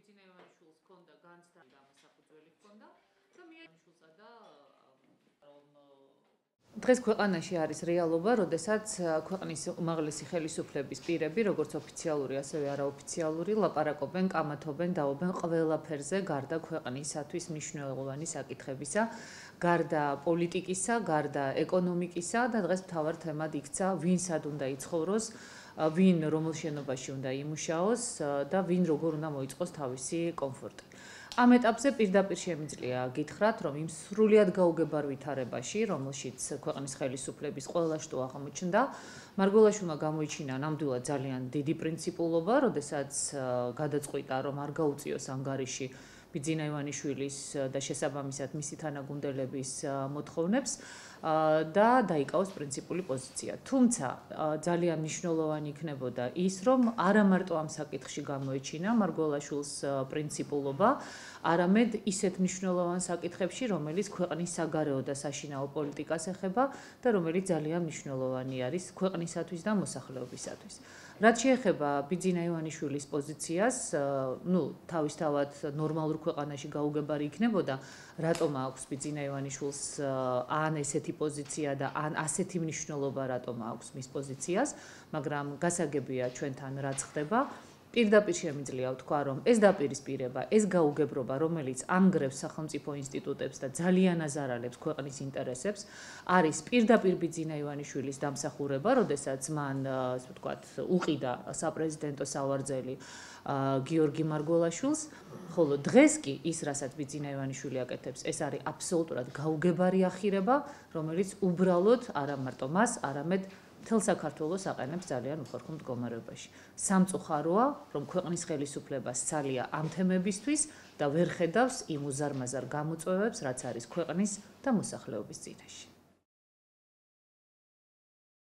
ბიძინა ივანიშვილს ჰქონდა განცდა და მასაფუძველი ჰქონდა და მიანიშვილსა და დღეს ქვეყანაში არის რეალობა, როდესაც ქვეყნის უმაღლესი ხელისუფლების პირები, როგორც ოფიციალური, ასევე არაოფიციალური, ლაპარაკობენ, კამათობენ, დაობენ ყველაფერზე, გარდა ქვეყნისათვის მნიშვნელოვანი საკითხებისა, გარდა პოლიტიკისა, გარდა ეკონომიკისა და დღეს მთავარ თემად იქცა, ვინ სად უნდა იცხოვროს, ვინ რომელ შენობაში უნდა იმუშაოს და ვინ როგორ უნდა მოიწყოს თავისი კომფორტი. ამ ეტაპზე პირდაპირ შემიძლია გითხრათ, რომ იმ სრულიად გაუგებარ ვითარებაში, რომელშიც ქვეყნის ხელისუფლების ყველა შტო აღმოჩნდა, მარგველაშვილმა გამოიჩინა ნამდვილად ძალიან დიდი პრინციპულობა, როდესაც გადაწყვიტა, რომ არ გაუწიოს ანგარიში ბიძინა ივანიშვილის და შესაბამისად მისი თანაგუნდელების მოთხოვნებს და დაიკავოს პრინციპული პოზიცია. თუმცა ძალიან მნიშვნელოვანი იქნებოდა ის, რომ არა მარტო ამ საკითხში გამოიჩინა მარგველაშვილს პრინციპულობა, არამედ ისეთ მნიშვნელოვან საკითხებში, რომელიც ქვეყნის საგარეო და საშინაო პოლიტიკას ეხება და რომელიც ძალიან მნიშვნელოვანი არის ქვეყნისათვის და მოსახლეობისათვის. რაც შეეხება ბიძინა ივანიშვილის პოზიციას, თავისთავად ნორმალურ ქვეყანაში გაუგებარი იქნებოდა, რატომ აქვს ბიძინა ივანიშვილს ან ესეთი პოზიცია და ან ასეთი მნიშვნელობა რატომ აქვს მის პოზიციას, მაგრამ გასაგებია ჩვენთან რაც ხდება. პირდაპირ შემიძლია ვთქვა, რომ ეს დაპირისპირება, ეს გაუგებრობა, რომელიც ამგრევს სახელმწიფო ინსტიტუტებს და ძალიან აზარალებს ქვეყნის ინტერესებს, არის პირდაპირ ბიძინა ივანიშვილის დამსახურება, როდესაც მან, ასე ვთქვათ, უყიდა საპრეზიდენტო სავარძელი გიორგი მარგველაშვილს, ხოლო დღეს კი ის, რასაც ბიძინა ივანიშვილი აკეთებს, ეს არის აბსოლუტურად გაუგებარი ახირება, რომელიც უბრალოდ არა მარტო მას, არამედ მთელ საქართველოს აყენებს ძალიან უხერხო მდგომარეობაში. სამწუხაროა, რომ ქვეყნის ხელისუფლება სცალია ამ თემებისთვის და ვერ ხედავს იმ უზარმაზარ გამოწვევებს, რაც არის ქვეყნის და მოსახლეობის წინაშე.